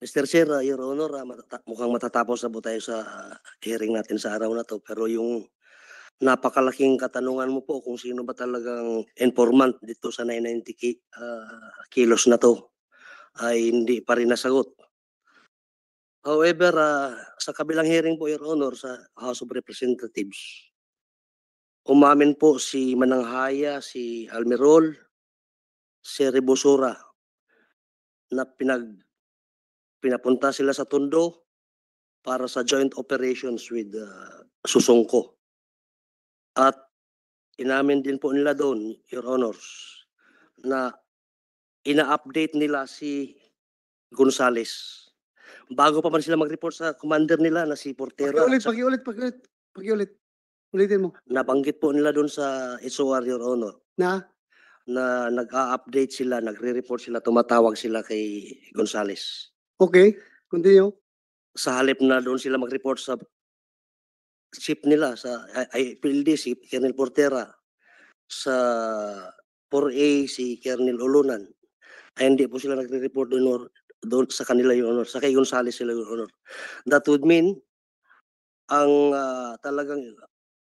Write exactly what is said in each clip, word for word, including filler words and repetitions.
Mister Chair, ah, Your Honor, ah, matata- mukhang matatapos na po tayo sa hearing natin sa araw na to. Pero yung napakalaking katanungan mo po kung sino ba talagang informant dito sa nine ninety ki- ah, kilos na to ay hindi pa rin nasagot. However, ah, sa kabilang hearing po, Your Honor, sa House of Representatives, umamin po si Mananghaya, si Almirol, si Rebusura na pinag pinapunta sila sa Tondo para sa joint operations with uh, Susungko. At inamin din po nila doon, Your Honors, na ina-update nila si Gonzales. Bago pa man sila mag-report sa commander nila na si Portera. Pakiulit, at sa- pakiulit, pakiulit, pakiulit. Ulitin mo. Nabanggit po nila doon sa S O R, Your Honor, Na? Na nag-a-update sila, nagre-report sila, tumatawag sila kay Gonzales. Okay, continue. Sa halip na doon sila mag-report sa chief nila, sa I- IPLD, si Colonel Portera, sa four A, si Colonel Ulunan, ay hindi po sila nagre-report doon, or, doon sa kanila, Your Honor, sa kay Gonzales sila, Your Honor. That would mean, ang ah, talagang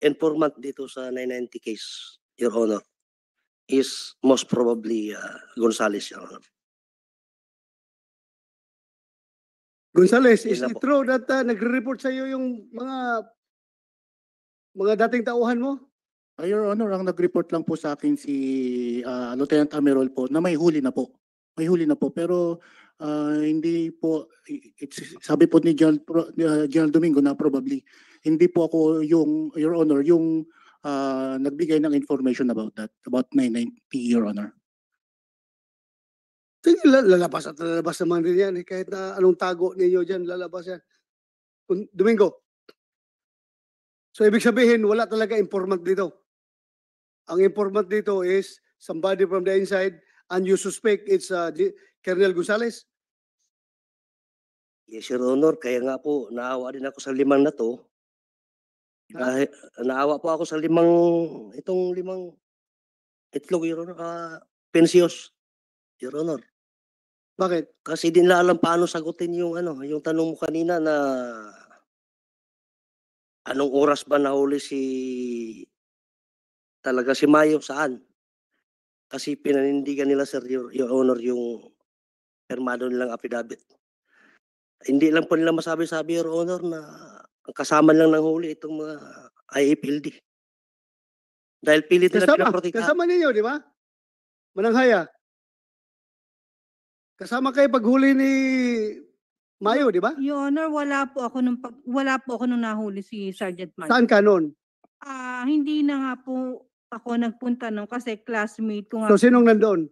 informant dito sa nine ninety case, Your Honor, is most probably ah, Gonzales, Your Honor. Gonzales, Yun is lang it po. True that uh, nagre-report sa iyo yung mga mga dating tauhan mo? Ah, Your Honor, ang nag-report lang po sa akin si ah, Lieutenant Amirol po na may huli na po. May huli na po. Pero ah, hindi po, i- it's, sabi po ni General, Pro- ah, General Domingo na probably, hindi po ako yung, Your Honor, yung ah, nagbigay ng information about that, about nine ninety, Your Honor. Sige, la- lalabas at lalabas naman din yan. Eh. Kahit na anong tago ninyo dyan, lalabas yan. Kun- Domingo. So, ibig sabihin, wala talaga informant dito. Ang informant dito is somebody from the inside and you suspect it's uh, G- Colonel Gonzales. Yes, Your Honor. Kaya nga po, naawa din ako sa limang na to. Ha? Dahil, naawa po ako sa limang, itong limang itlog, Your Honor, ah, pensios, Your Honor. Bakit? Kasi di nila alam paano sagutin yung ano, yung tanong mo kanina na anong oras ba nahuli si talaga si Mayo, saan? Kasi pinanindigan nila, sir, Your, Your Honor, yung pirmado nilang affidavit. Hindi lang po nila masabi-sabi, Your Honor, na ang kasama lang ng huli itong mga IAPLD. Dahil pilit nila Kasama, pinaprotektahan. Kasama ninyo, di ba? Mananghaya. Kasama kayo paghuli ni Mayo, di ba? Your Honor, wala po ako nung pag, wala po ako nung nahuli si Sergeant Mayo. Saan ka noon? Ah, hindi na nga po ako nagpunta nung kasi classmate ko nga. So, sinong nandoon?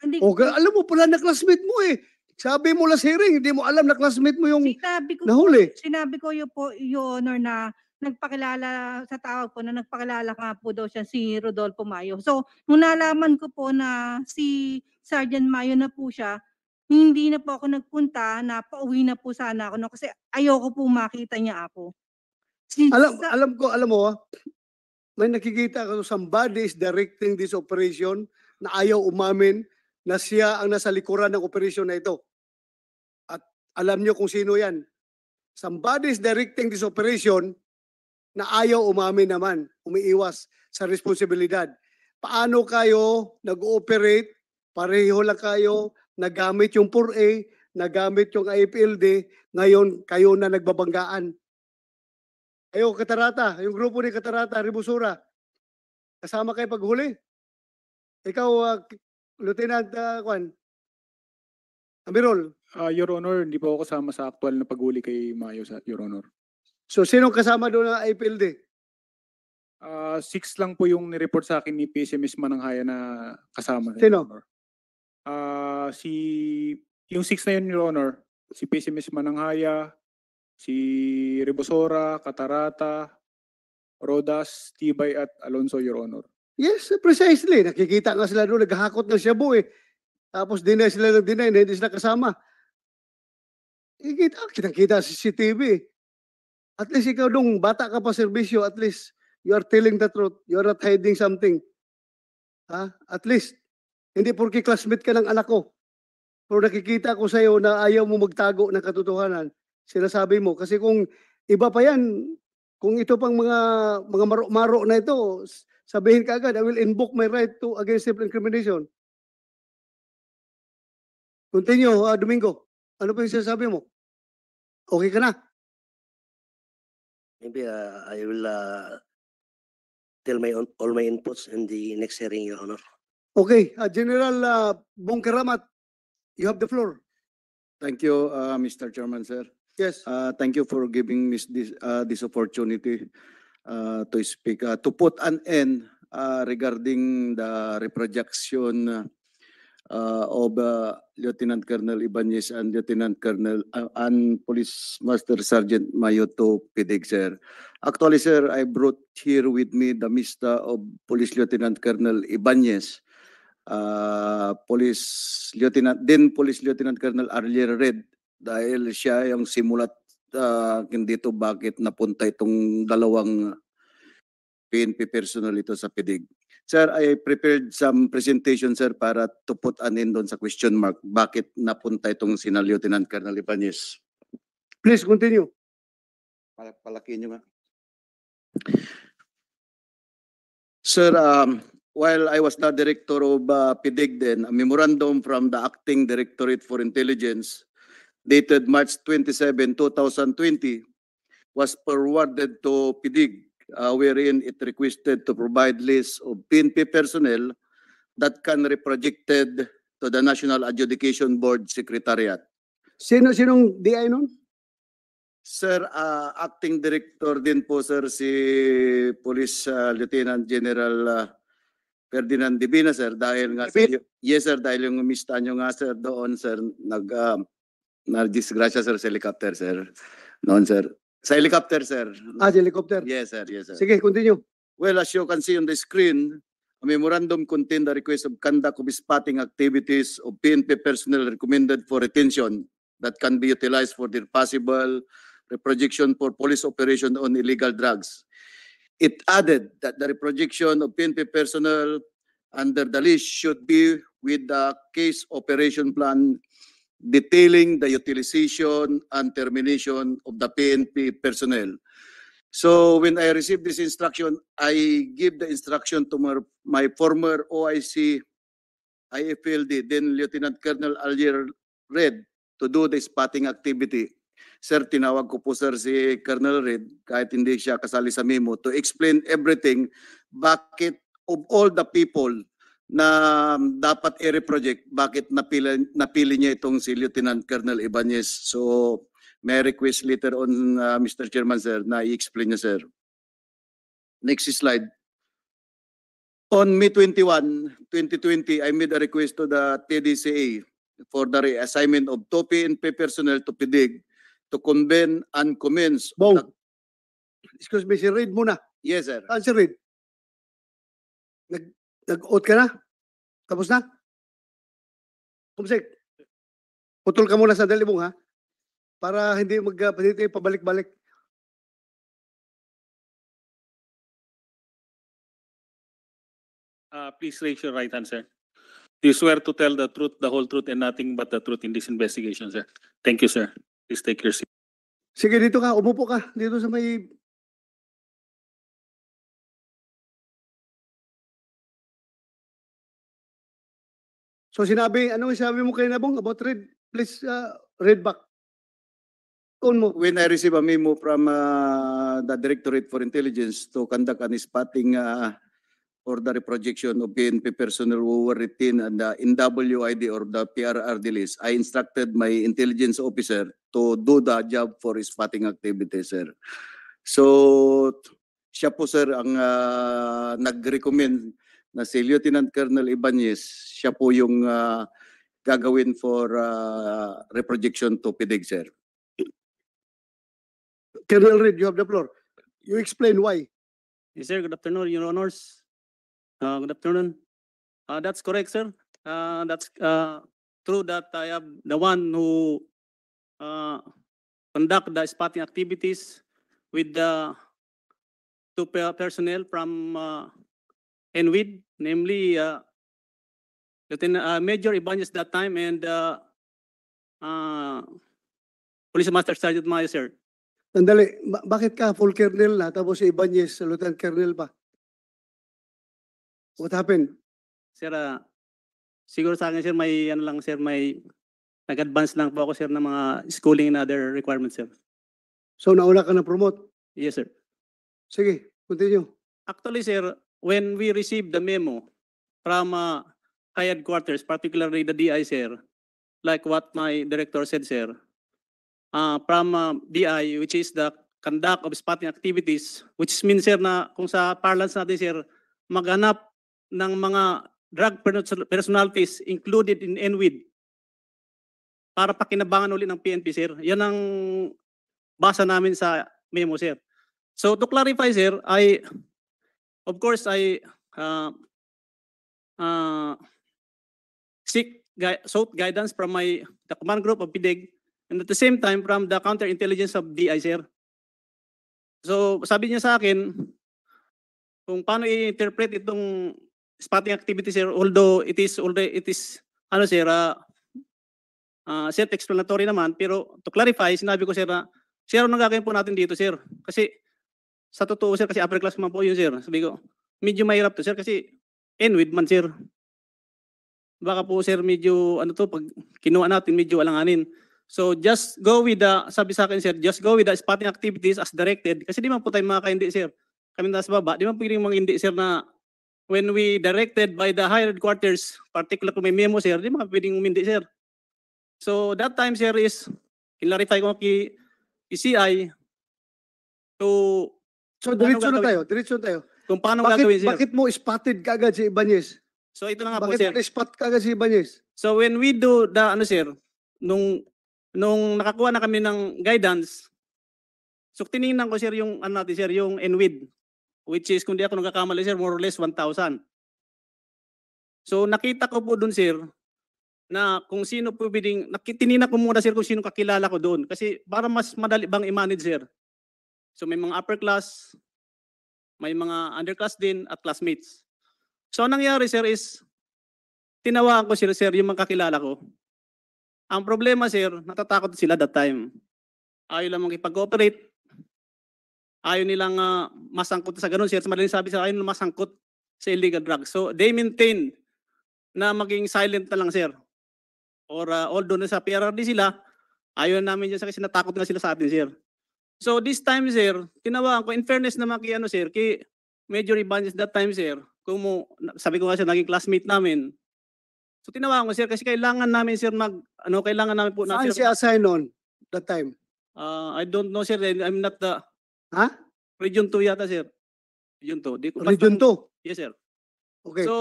Hindi, Okay, alam mo pala na classmate mo eh. Sabi mo last hearing, hindi mo alam na classmate mo yung sinabi ko nahuli. Sinabi ko yun po, Your Honor, na nagpakilala sa tawag po na nagpakilala nga po daw siya si Rodolfo Mayo. So, nung nalaman ko po na si Sergeant Mayo na po siya, hindi na po ako nagpunta, na pauwi na po sana ako no, kasi ayoko po makita niya ako. Si, Alam, sa- alam ko, alam mo, ah, may nakikita ko, somebody is directing this operation na ayaw umamin na siya ang nasa likuran ng operasyon na ito. At alam niyo kung sino yan. Somebody is directing this operation na ayaw umamin naman, umiiwas sa responsibilidad. Paano kayo nag-ooperate? Pareho lang kayo nagamit yung four A, nagamit yung IAPLD, ngayon kayo na nagbabanggaan. Ayo, Katarata, yung grupo ni Katarata, Rebusura. Kasama kayo paghuli? Ikaw, ah, Lieutenant uh, Kwan? Amirol. Ah, Your Honor, hindi po ako kasama sa aktual na paghuli kay Mayo, sa, Your Honor. So, sinong kasama doon ng IAPLD? Ah, six lang po yung nireport sa akin ni PSMS Mananghaya na kasama. Sino? Your Honor. Ah, si, yung six na yun, Your Honor, si PSMS Mananghaya, si Rebusora, Catarata, Rodas, Tibay, at Alonso, Your Honor. Yes, precisely. Nakikita nga sila doon, naghahakot ng shabu eh. Tapos deny sila ng deny na hindi sila kasama. Ikita, kitang-kita sa C C T V. At least ikaw nung bata ka pa serbisyo, at least you are telling the truth. You are not hiding something. Ha? At least, hindi porke classmate ka ng anak ko. Pero nakikita ko sa'yo na ayaw mo magtago ng katotohanan. Sinasabi mo. Kasi kung iba pa yan, kung ito pang mga mga maro-maro na ito, s- sabihin ka agad, "I will invoke my right to against self-incrimination." Continue, ah, Domingo. Ano pa yung sinasabi mo? Okay ka na? Maybe uh, I will uh, tell my own, all my inputs in the next hearing, Your Honor. Okay, ah, General uh, Bong Keramat, you have the floor. Thank you, uh, Mister Chairman, sir. Yes. Uh, thank you for giving me this, uh, this opportunity uh, to speak, uh, to put an end uh, regarding the reproduction uh, of uh, Lieutenant Colonel Ibanez and Lieutenant Colonel uh, and Police Master Sergeant Mayo to PDEG, sir. Actually, sir, I brought here with me the mista of Police Lieutenant Colonel Ibanez, uh, Police Lieutenant, then Police Lieutenant Colonel Arlier Red, dahil siya yung simulat uh, dito bakit napunta itong dalawang PNP personnel ito sa PDEG. Sir, I prepared some presentation, sir, para to put an end doon sa question mark. Bakit napunta itong sina Lieutenant Colonel Ibanez? Please continue. Palak- Palaki nyo nga. Sir, um, while I was the director of uh, PDEG then, a memorandum from the Acting Directorate for Intelligence dated March twenty-seven, two thousand twenty was forwarded to PDEG, uh, wherein it requested to provide list of PNP personnel that can be projected to the National Adjudication Board Secretariat. Sino sinong DI nun? Sir, uh, acting director din po, sir, si Police uh, Lieutenant General uh, Ferdinand Divina, sir, dahil nga, sir, y- yes, sir, dahil yung mista nyo nga, sir, doon, sir, nag, uh, na-disgrasya, sir, sa helicopter, sir. Noon, sir. Sa helicopter, sir. Ah, sa helicopter. Yes, sir, yes, sir. Sige, continue. Well, as you can see on the screen, a memorandum contained the request of conduct of spotting activities of PNP personnel recommended for retention that can be utilized for their possible reprojection for police operation on illegal drugs. It added that the reprojection of PNP personnel under the list should be with the case operation plan detailing the utilization and termination of the PNP personnel. So when I received this instruction, I give the instruction to my, my former OIC IFLD, then Lieutenant Colonel Alier Red, to do the spotting activity. Sir, tinawag ko po, sir, si Colonel Red, kahit hindi siya kasali sa memo, to explain everything, bakit of all the people na dapat i-reproject, bakit napili, napili niya itong si Lieutenant Colonel Ibanez. So, may I request later on, uh, Mister Chairman, sir, na i-explain niya, sir. Next slide. On May twenty-one, twenty twenty, I made a request to the TDCA for the reassignment of two PNP personnel to PDEG to convene and commence. Bong. Excuse me, si Reid muna. Yes, sir. Saan si Reid? Nag, nag-out ka na? Tapos na? Kumsik, putol ka muna sandali, Bong, ha? Para hindi mag, uh, hindi tayo pabalik-balik. Uh, please raise your right hand, sir. Do you swear to tell the truth, the whole truth, and nothing but the truth in this investigation, sir? Thank you, sir. Please take your seat. Sige, dito ka. Umupo ka. Dito sa may... So sinabi, anong sinabi mo kanina, Bong, about Reid? Please, uh, read back. Tone mo. When I receive a memo from uh, the Directorate for Intelligence to conduct an spotting uh, for the reprojection of PNP personnel who were retained on the NWID or the PRRD list, I instructed my intelligence officer to do the job for spotting activity, sir. So, siya po, sir, ang uh, nag-recommend na si Lieutenant Colonel Ibanez, siya po yung uh, gagawin for uh, reprojection to PDEG, sir. Colonel Reid, you have the floor. You explain why. Yes, sir. Good afternoon, Your Honors. Uh, good afternoon. Uh, that's correct, sir. Uh, that's uh, true that I am the one who uh, conduct the spotting activities with the two pe- personnel from uh, NWID, namely uh, Lieutenant uh, Major Ibanez that time and uh, ah, Police Master Sergeant Mayo, sir. Sandali, ba- bakit ka full colonel na tapos si Ibanez, lieutenant colonel pa? What happened? Sir, ah, siguro sa akin, sir, may ano lang, sir, may nag-advance lang po ako, sir, ng mga schooling and other requirements, sir. So nauna ka na promote? Yes, sir. Sige, continue. Actually, sir, when we received the memo from uh, high headquarters, particularly the D I, sir, like what my director said, sir, uh, from uh, D I, which is the conduct of spotting activities, which means, sir, na kung sa parlance natin, sir, maghanap ng mga drug person- personalities included in ENWID para pakinabangan uli ng P N P, sir. Yan ang basa namin sa memo, sir. So to clarify, sir, I, of course, I uh, uh, seek gui- sought guidance from my the command group of PDEG and at the same time from the counterintelligence of D I, sir. So sabi niya sa akin kung paano i-interpret itong spotting activity, sir, although it is already, it is, ano, sir, ah, ah, self-explanatory naman, pero to clarify, sinabi ko, sir, na, "Sir, anong gagawin po natin dito, sir?" Kasi sa totoo, sir, kasi upper class man po yun, sir. Sabi ko, "Medyo mahirap to, sir, kasi ENWID man, sir. Baka po, sir, medyo ano to, pag kinuha natin, medyo alanganin." So just go with the, sabi sa akin, sir, "Just go with the spotting activities as directed." Kasi di man po tayo makakaindi, sir. Kami nasa baba, di man pwedeng mga hindi, sir, na when we directed by the higher headquarters, particular kung may memo, sir, di man pwedeng umindi, sir. So that time, sir, is clarify ko kay, kay C I to So diretso na gagawin? Tayo, diretso na tayo. Kung paano Bakit, gagawin, sir. Bakit mo spotted kaagad si Ibanez? So ito na nga po, Bakit sir. Na-spot kaagad si Ibanez? So when we do the, ano, sir, nung nung nakakuha na kami ng guidance, so tiningnan ko, sir, yung ano natin, sir, yung ENWID, which is, kung di ako nagkakamali, sir, more or less one thousand. So nakita ko po doon, sir, na kung sino po pwedeng, naki- tiningnan ko muna, sir, kung sino kakilala ko doon. Kasi para mas madali bang i-manage, sir. So may mga upper class, may mga underclass din at classmates. So ang nangyari, sir, is tinawagan ko sila, sir, yung mga kakilala ko. Ang problema, sir, natatakot sila that time. Ayaw lang makipag-cooperate. Ayaw nilang ah, masangkot sa ganun, sir. Madaling sabi sa ayaw nilang masangkot sa illegal drugs. So they maintain na maging silent na lang, sir. Or ah, although nasa P R R D sila, ayaw namin dyan sa kasi natakot nga sila sa atin, sir. So this time, sir, tinawagan ko, in fairness naman kay, ano, sir, kay Major Ibanez that time, sir, kung mo, sabi ko nga, sir, naging classmate namin. So tinawagan ko, sir, kasi kailangan namin, sir, mag, ano, kailangan namin po na, Saan sir, si assign on that time? Ah, I don't know, sir. I'm not the Ha? Region two yata, sir. Region two. Di ko, basta- Region two? Yes, sir. Okay. So,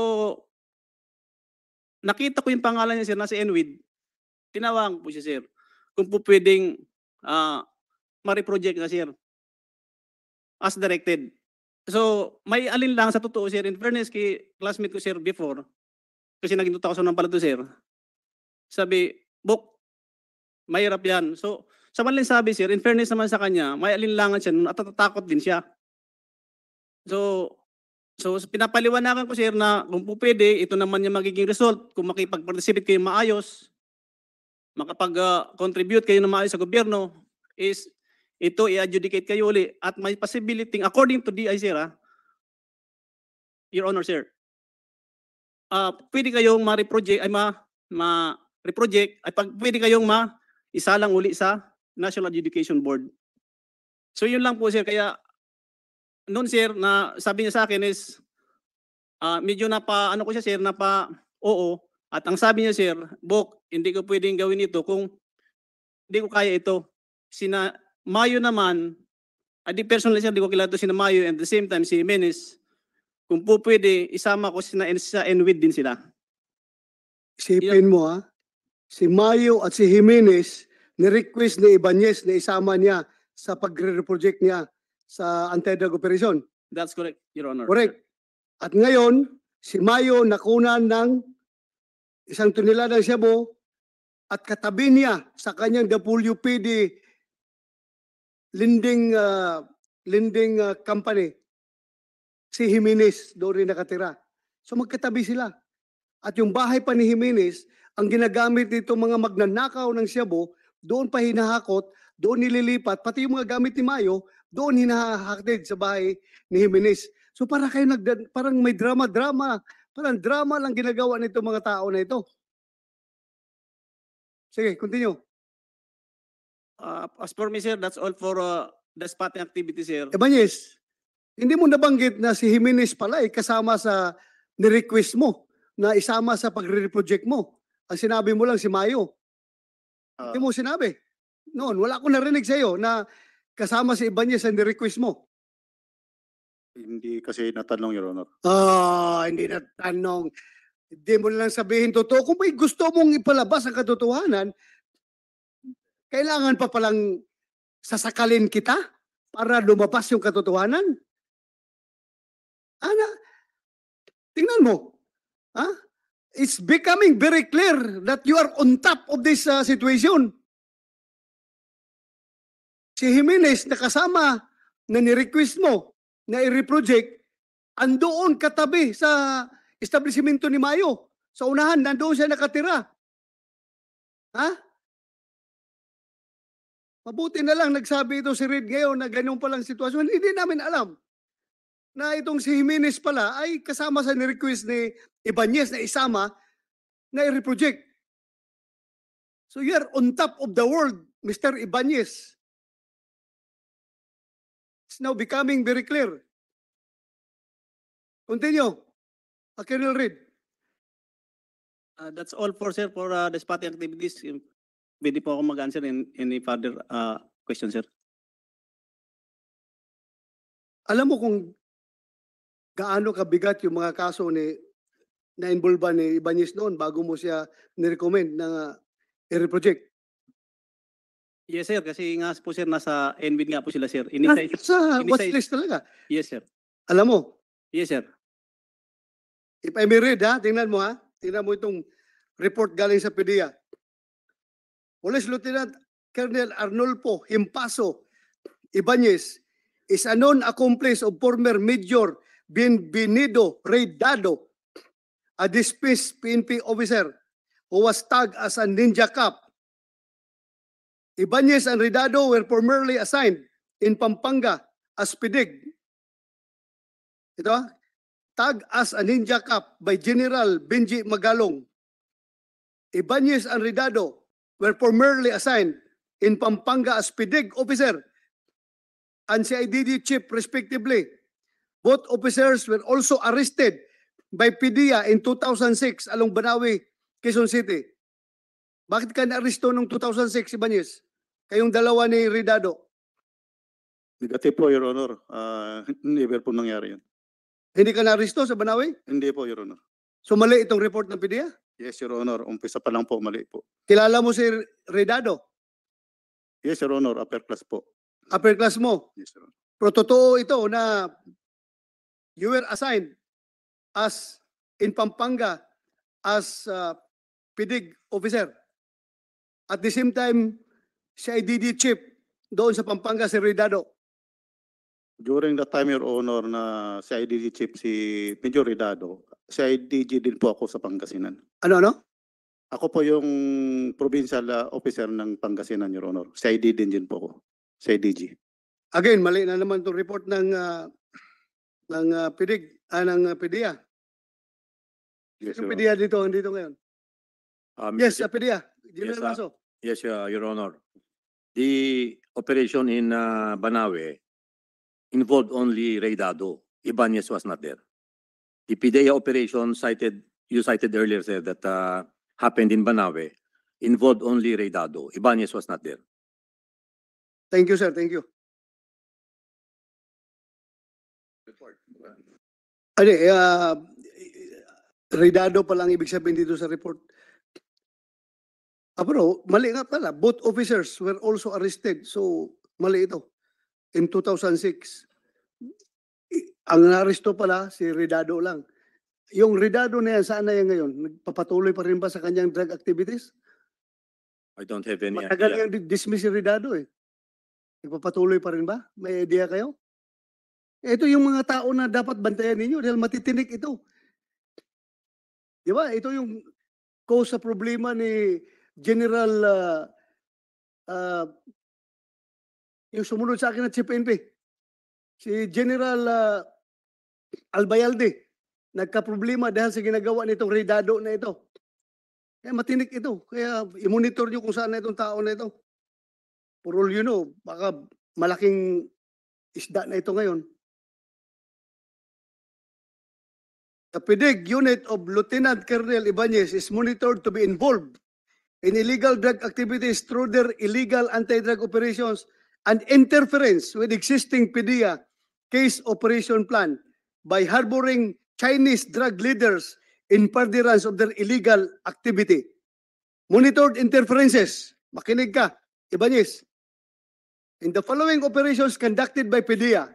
nakita ko yung pangalan niya, sir, nasa ENWID. Tinawagan ko po siya, sir. Kung po pwedeng ah, ma-reproject na, sir. As directed. So, may alin lang sa totoo, sir. In fairness kay classmate ko, sir, before, kasi naging two thousand one pala to, sir. Sabi, "Bok, mahirap yan." So, sa madaling sabi, sir, in fairness naman sa kanya, may alinlangan siya, natatakot din siya. So, so pinapaliwanagan ko, sir, na kung po pwede, ito naman yung magiging result. Kung makipag-participate kayo maayos, makapag-contribute kayo na maayos sa gobyerno, is ito i-adjudicate kayo uli at may possibility, according to D I, sir, ha, Your Honor, sir, ah, pwede kayong ma-reproject, ay ma, ma-reproject, ay pag, pwede kayong ma, isalang uli sa National Adjudication Board. So yun lang po, sir. Kaya noon, sir, na sabi niya sa akin is, ah, medyo napa, ano ko siya, sir, napa, oo. At ang sabi niya, sir, "Bok, hindi ko pwedeng gawin ito kung hindi ko kaya ito." Sina Mayo naman, ah, di personally, sir, di ko kilala to, sina Mayo, and at the same time, si Jimenez, kung po pwede, isama ko sina, sa ENWID din sila. Isipin mo, ha? Si Mayo at si Jimenez, ni-request ni Ibanez na isama niya sa pagre-project niya sa anti-drug operation. That's correct, Your Honor. Correct. At ngayon, si Mayo nakunan ng isang tonelada ng shabu at katabi niya sa kanyang W P D lending, ah, lending, ah, company, si Jimenez doon rin nakatira. So magkatabi sila. At yung bahay pa ni Jimenez ang ginagamit nito mga magnanakaw ng shabu, doon pa hinahakot, doon nililipat, pati yung mga gamit ni Mayo, doon hinahatid sa bahay ni Jimenez. So para kayo nagda- parang may drama-drama, parang drama lang ginagawa nito mga tao na ito. Sige, continue. Uh, as for me, sir, that's all for uh, the spotting activity, sir. Ibanez, hindi mo nabanggit na si Jimenez pala ay kasama sa ni-request mo na isama sa pagre-project mo. Ang sinabi mo lang si Mayo. Ah, Hindi mo sinabi. Noon, wala akong narinig sa iyo na kasama si Ibanez sa ni-request mo. Hindi kasi natanong, Your Honor. Ah, hindi na tanong. Hindi mo lang sabihin totoo. Kung may gusto mong ipalabas ang katotohanan, kailangan pa palang sasakalin kita para lumabas yung katotohanan? Ana, tingnan mo. Ha? It's becoming very clear that you are on top of this uh, situation. Si Jimenez nakasama na ni-request mo na i-reproject, andoon katabi sa establishmento ni Mayo. Sa unahan, nandoon siya nakatira. Ha? Mabuti na lang nagsabi ito si Reed ngayon na ganyan palang sitwasyon. Hindi namin alam na itong si Jimenez pala ay kasama sa ni-request ni Ibanez na isama na i-reproject. So you're on top of the world, Mister Ibanez. It's now becoming very clear. Continue. Uh, Colonel Reed. Uh, that's all for, sir, for uh, the spotting activities. Pwede po ako mag-answer in any further uh, question, sir. Alam mo kung gaano kabigat yung mga kaso ni na-involve ni Ibanez noon bago mo siya nirecommend na i-reproject? Yes, sir. Kasi nga po, sir, nasa N B I D nga po sila, sir. Nasa Ini-size. sa ini-size- watch list talaga. Yes, sir. Alam mo, Yes, sir. if I may read, ha, tingnan mo, ha, tingnan mo itong report galing sa PDEA. Police Lieutenant Colonel Arnulfo Himpaso Ibanez is a known accomplice of former Major Bienvenido Rey Dado, a dismissed P N P officer who was tagged as a ninja cop. Ibanez and Rey Dado were formerly assigned in Pampanga as PDIG. Ito, ah, tagged as a ninja cop by General Benji Magalong. Ibanez and Rey Dado were formerly assigned in Pampanga as PDIG officer and C I D G chief respectively. Both officers were also arrested by PDEA in two thousand six along Banawe, Quezon City. Bakit ka naaresto noong two thousand six, Ibanez? Kayong dalawa ni Rey Dado. Negative po, Your Honor. Ah, never po nangyari yun. Hindi ka naaresto sa Banawe? Hindi po, Your Honor. So mali itong report ng PDEA? Yes, Your Honor. Umpisa pa lang po, mali po. Kilala mo si Rey Dado? Yes, Your Honor. Upper class po. Upper class mo? Yes, Your Honor. Pero totoo ito na you were assigned as in Pampanga as uh, PDIG officer. At the same time, C I D G chief doon sa Pampanga si Rey Dado. During the time, Your Honor, na C I D G chief si Major Rey Dado, C I D G din po ako sa Pangasinan. Ano, ano? Ako po yung provincial ah, officer ng Pangasinan, Your Honor. C I D din din po ako. C I D G. Again, mali na naman itong report ng uh, ng uh, PDIG, ah, ng uh, PDEA. Yes, Yung Your Honor. PDEA dito, andito ngayon. Um, Yes, y- uh, PDEA. General Yes, uh, Maso. Yes, uh, Your Honor. The operation in uh, Banawe involved only Rey Dado. Ibanez was not there. The PDEA operation cited, you cited earlier, sir, that uh, happened in Banawe involved only Rey Dado. Ibanez was not there. Thank you, sir. Thank you. Ano, eh, ah, Rey Dado pala ang ibig sabihin dito sa report. Ah, pero mali nga pala. Both officers were also arrested. So, mali ito. In two thousand six, i- ang naaresto pala si Rey Dado lang. Yung Rey Dado na yan, saan na yan ngayon? Nagpapatuloy pa rin ba sa kanyang drug activities? I don't have any Matagal idea. Yung di- dismiss si Rey Dado eh. Nagpapatuloy pa rin ba? May idea kayo? Ito yung mga tao na dapat bantayan ninyo dahil matitinik ito. Di ba? Ito yung nag-cause sa problema ni General, ah, ah, yung sumunod sa akin na chief N P, si General, ah, Albayalde, nagkaproblema dahil sa ginagawa nitong Ray Dado na ito. Kaya matinik ito. Kaya i-monitor nyo kung saan na itong tao na ito. For all you know, baka malaking isda na ito ngayon. The PDEG unit of Lieutenant Colonel Ibanez is monitored to be involved in illegal drug activities through their illegal anti-drug operations and interference with existing PDEA case operation plan by harboring Chinese drug leaders in furtherance of their illegal activity. Monitored interferences. Makinig ka, Ibanez. In the following operations conducted by PDEA,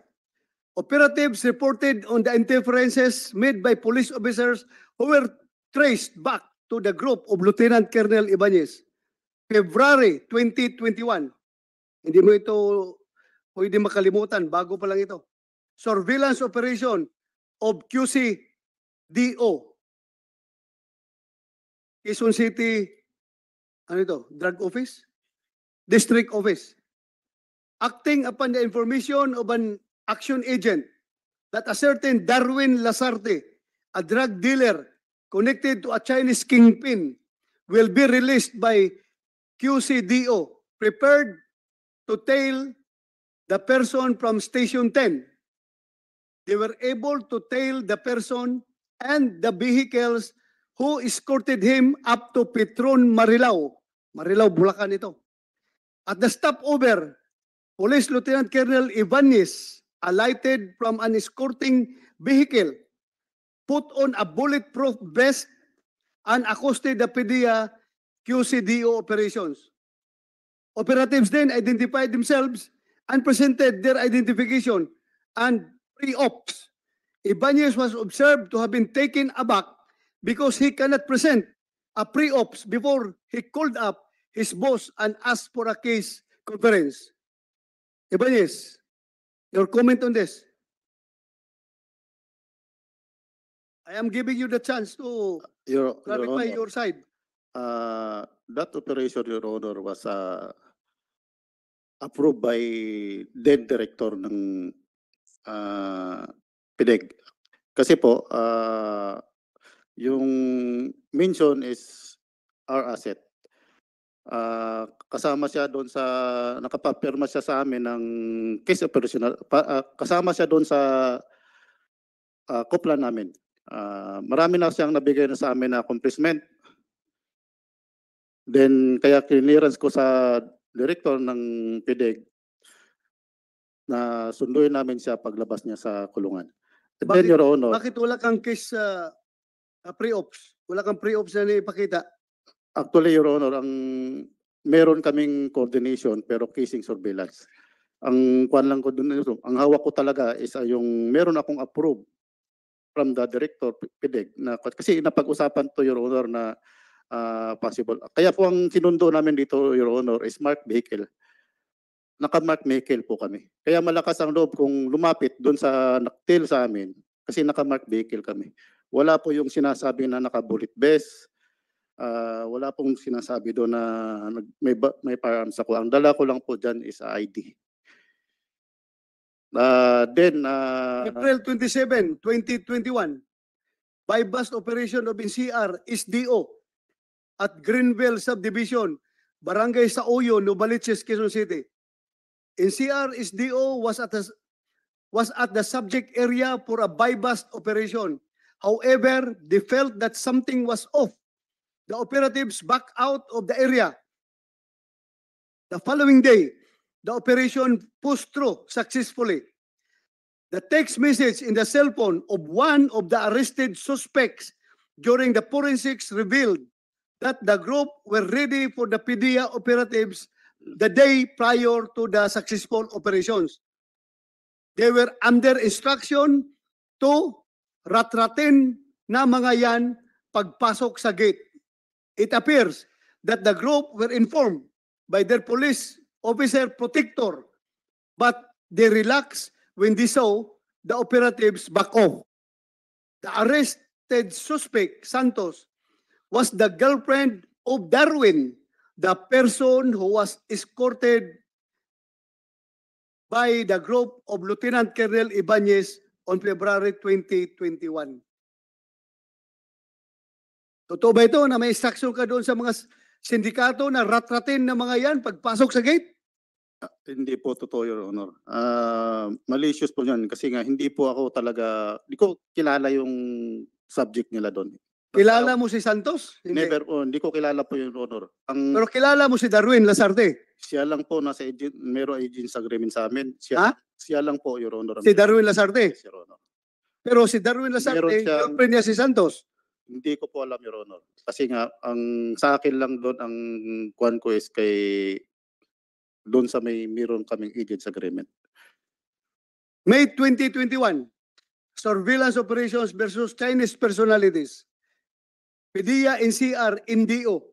operatives reported on the interferences made by police officers who were traced back to the group of Lieutenant Colonel Ibanez. February twenty twenty-one. Hindi mo ito pwede makalimutan. Bago pa lang ito. Surveillance operation of QCDO. Quezon City, ano ito? Drug Office? District Office. Acting upon the information of an action agent that a certain Darwin Lasarte, a drug dealer connected to a Chinese kingpin, will be released by QCDO, prepared to tail the person from Station ten. They were able to tail the person and the vehicles who escorted him up to Petron Marilao. Marilao, Bulacan ito. At the stopover, Police Lieutenant Colonel Ibanez alighted from an escorting vehicle, put on a bulletproof vest, and accosted the PDEA QCDO operations. Operatives then identified themselves and presented their identification and pre-ops. Ibanez was observed to have been taken aback because he cannot present a pre-ops before he called up his boss and asked for a case conference. Ibanez, your comment on this? I am giving you the chance to Your, Your clarify Honor, your side. uh, that operation, Your Honor, was uh, approved by then director ng uh, PDEG. Kasi po, uh, yung mention is our asset. Uh, kasama siya doon sa, nakapapirma siya sa amin ng case operational, pa, uh, kasama siya doon sa uh, kopla namin. Uh, marami na siyang nabigay na sa amin na accomplishment. Then, kaya clearance ko sa director ng PDEG na sunduin namin siya paglabas niya sa kulungan. And then, Bakit- Your Honor, Bakit wala kang case sa ah, pre-ops? Wala kang pre-ops na ipakita? Actually, Your Honor, ang meron kaming coordination pero casing surveillance. Ang kwan lang ko dun, ang hawak ko talaga is ah, yung meron akong approve from the director, PDEG, na, kasi napag-usapan to, Your Honor, na ah, possible. Kaya po ang sinundo namin dito, Your Honor, is marked vehicle. Naka-marked vehicle po kami. Kaya malakas ang loob kong lumapit doon sa naktil sa amin kasi naka-marked vehicle kami. Wala po yung sinasabi na naka-bullet vest. Ah, wala pong sinasabi doon na nag- may, ba- may firearms ako. Ang dala ko lang po dyan is I D. Ah, then, ah, April twenty-seven, twenty twenty-one, buy-bust operation of N C R S D O at Greenville Subdivision, Barangay Saoyo, Novaliches, Quezon City. N C R S D O was at the, was at the subject area for a buy-bust operation. However, they felt that something was off. The operatives backed out of the area. The following day, the operation pushed through successfully. The text message in the cell phone of one of the arrested suspects during the forensics revealed that the group were ready for the PDEA operatives the day prior to the successful operations. They were under instruction to ratratin na mga yan pagpasok sa gate. It appears that the group were informed by their police officer protector, but they relaxed when they saw the operatives back off. The arrested suspect, Santos, was the girlfriend of Darwin, the person who was escorted by the group of Lieutenant Colonel Ibanez on February twenty twenty-one. Totoo ba ito na may instruction ka doon sa mga s- sindikato na ratratin na mga yan pagpasok sa gate? Ah, hindi po totoo, Your Honor. Ah, malicious po yun kasi nga hindi po ako talaga, di ko kilala yung subject nila doon. Kilala mo si Santos? Hindi. Never po, hindi ko kilala po, Your Honor. Ang Pero kilala mo si Darwin Lasarte? Siya lang po nasa agent, merong agents agreement sa amin. Siya, Ha? Siya lang po, Your Honor. ang- Si Darwin Lasarte? Yes, Your Honor. Pero si Darwin Lasarte, Meron siyang- girlfriend niya si Santos. Hindi ko po alam, Your Honor. Kasi nga, ang sa akin lang doon, ang kuwan ko is kay doon sa may meron kaming agents agreement. May twenty twenty-one, surveillance operations versus Chinese personalities. PDEA, N C R, N D O,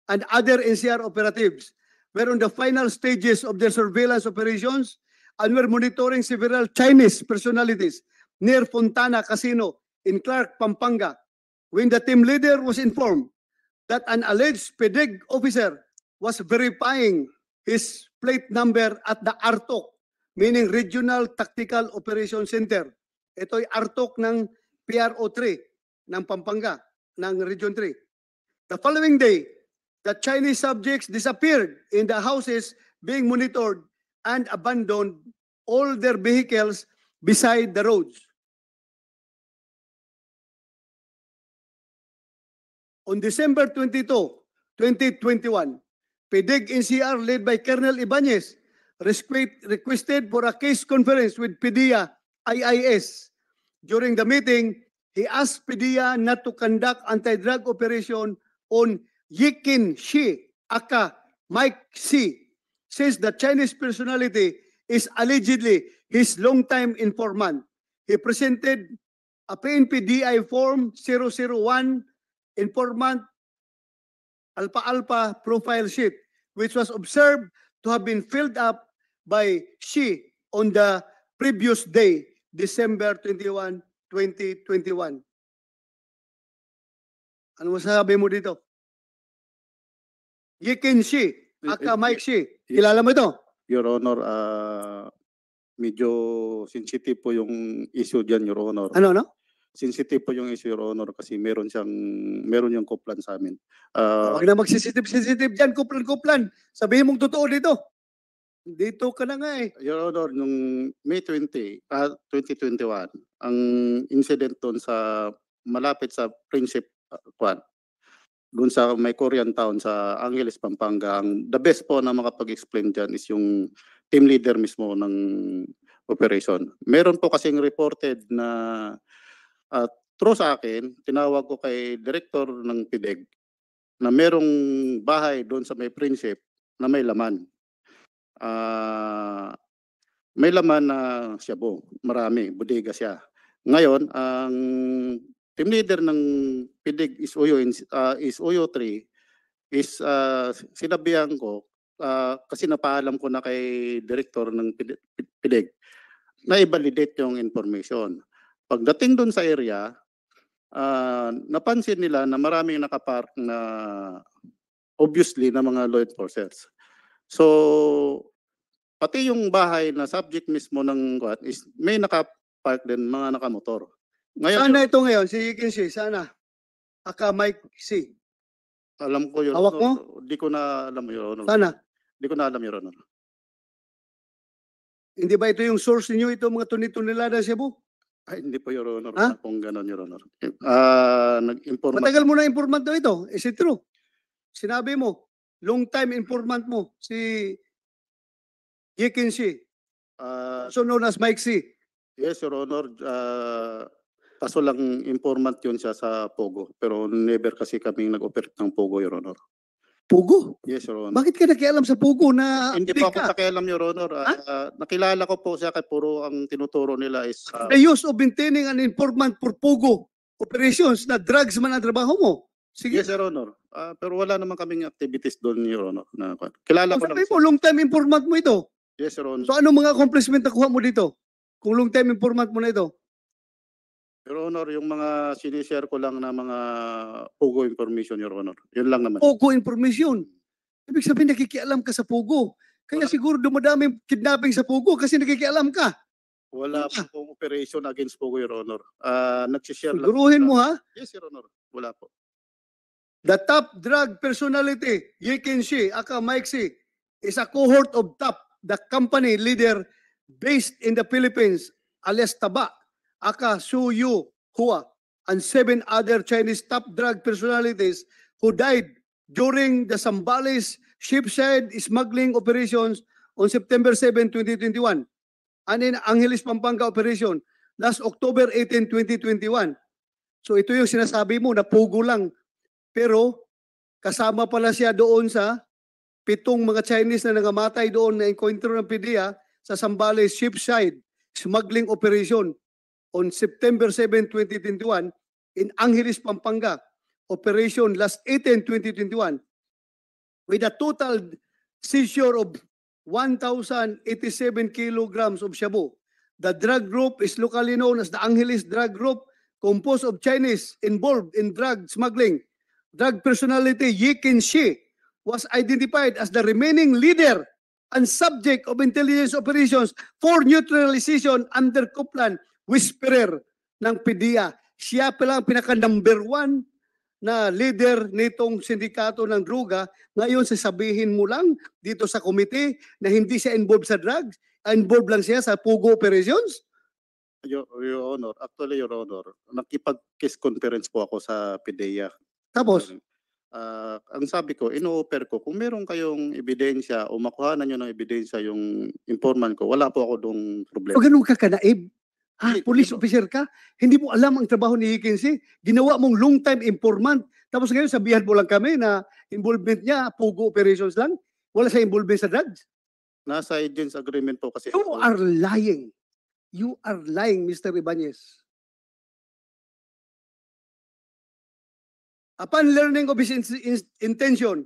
and other N C R operatives were on the final stages of their surveillance operations and were monitoring several Chinese personalities near Fontana Casino in Clark, Pampanga, when the team leader was informed that an alleged PDEG officer was verifying his plate number at the ARTOC, meaning Regional Tactical Operation Center. Ito ay ARTOC ng P R O three ng Pampanga, ng Region three. The following day, the Chinese subjects disappeared in the houses being monitored and abandoned all their vehicles beside the roads. On December twenty-two, twenty twenty-one, PDEG N C R led by Colonel Ibanez resque- requested for a case conference with PDEA I I S. During the meeting, he asked PDEA not to conduct anti-drug operation on Yikin Shi, aka Mike C, since the Chinese personality is allegedly his longtime informant. He presented a P N P D I form zero zero one informant alpha-alpha profile sheet, which was observed to have been filled up by Shi on the previous day, December twenty-one, twenty twenty-one. Ano masasabi mo dito? Yikin Shi, aka Mike Shi. Kilala mo ito? Your Honor, ah, medyo sensitive po yung issue dyan, Your Honor. Ano, no? Sensitive po yung issue, Your Honor, kasi meron siyang, meron yung kuplan sa amin. Ah, Huwag na magsensitive-sensitive dyan, kuplan-kuplan. Sabihin mong totoo dito. Dito ka na nga eh. Your Honor, nung May twenty, ah, twenty twenty-one, ang incident doon sa malapit sa Friendship, ah, kwan, doon sa may Korean town sa Angeles, Pampanga, ang the best po na makapag-explain dyan is yung team leader mismo ng operation. Meron po kasing reported na, ah, through sa akin, tinawag ko kay director ng PDEG na merong bahay doon sa may Friendship na may laman. Ah, may laman na shabu, marami, bodega siya. Ngayon, ang team leader ng PDEG S O U in, ah, S O U three is, ah, sinabihan ko, ah, kasi napaalam ko na kay director ng PDEG, PDEG na i-validate yung information. Pagdating doon sa area, ah, napansin nila na maraming nakapark na obviously na mga law enforcers. So, pati yung bahay na subject mismo ng kwan is may nakapark din, mga nakamotor. Ngayon, Sana ito ngayon, si Yikin Shi, sana. Aka Mike C. Alam ko yun. Hawak mo? Di ko na alam, Your Honor. Sana. Di ko na alam, Your Honor. Hindi ba ito yung source ninyo, ito mga tuni-tunilada shabu? Ay, hindi po, Your Honor. Ha? Wala pong ganon, Your Honor. Ah, nag-inform. Matagal mo na informant daw ito. Is it true? Sinabi mo, long time informant mo, si Yikin Shi, Ah, also known as Mike C. yes, Your Honor. Ah, kaso lang informant yun siya sa Pogo. Pero never kasi kaming nag-operate ng Pogo, Your Honor. Pogo? Yes, Your Honor. Bakit ka nakialam sa Pogo na Hindi adik po ako ka? Nakialam, Your Honor. Ah, ah, nakilala ko po siya kay puro ang tinuturo nila is ah, The use of maintaining an informant for Pogo operations na drugs man ang trabaho mo. Sige. Yes, Your Honor. Ah, pero wala naman kaming activities doon, Your Honor. Na, kilala Ang ko lang sabi siya. mo, long time informant mo ito. Yes, Your Honor. So anong mga accomplishment nakuha mo dito? Kung long time informant mo na ito. Your Honor, yung mga sinishare ko lang na mga POGO information, Your Honor. Yun lang naman. POGO information. Ibig sabihin, nakikialam ka sa POGO. Kaya Wala. Siguro dumadami yung kidnapping sa POGO kasi nakikialam ka. Wala Wala. po pong operation against POGO, Your Honor. Ah, nagsishare lang. Siguruhin mo ha. Yes, Your Honor. Wala po. The top drug personality, Yi Kin Shi, aka Mike Shi, is a cohort of top, the company leader based in the Philippines, alias Taba, aka Su Yu Hua, and seven other Chinese top drug personalities who died during the Zambales shipside smuggling operations on September seven, twenty twenty-one, and in Angeles, Pampanga operation last October eighteen, twenty twenty-one. So ito yung sinasabi mo na POGO lang. Pero kasama pala siya doon sa pitong mga Chinese na nangamatay doon na enkwentro ng PDEA sa Zambales shipside smuggling operation on September seven, twenty twenty-one in Angeles, Pampanga operation last eighteen, twenty twenty-one, with a total seizure of one thousand eighty-seven kilograms of shabu. The drug group is locally known as the Angeles Drug Group, composed of Chinese involved in drug smuggling. Drug personality Yi Kin Shi was identified as the remaining leader and subject of intelligence operations for neutralization under Copeland Whisperer ng PDEA. Siya pala ang pinaka number one na leader nitong sindikato ng droga. Ngayon, sasabihin mo lang dito sa komite na hindi siya involved sa drugs, involved lang siya sa POGO operations? Your, Your Honor, actually, Your Honor, nakipag-case conference po ako sa PDEA. Tapos, Ah, ang sabi ko, ino-offer ko, kung meron kayong ebidensya o makuha na nyo ng ebidensya yung informant ko, wala po ako dong problema. pag ganun ka kanaib, ah, Hindi, police hindi. Officer ka, hindi mo alam ang trabaho ni Yi Kin Shi, ginawa mong long time informant, tapos ngayon sabihan mo lang kami na involvement niya, POGO operations lang, wala sa involvement sa drugs. Nasa agents agreement po kasi. You are lying. You are lying, Mister Ibanez. Upon learning of his in- in- intention,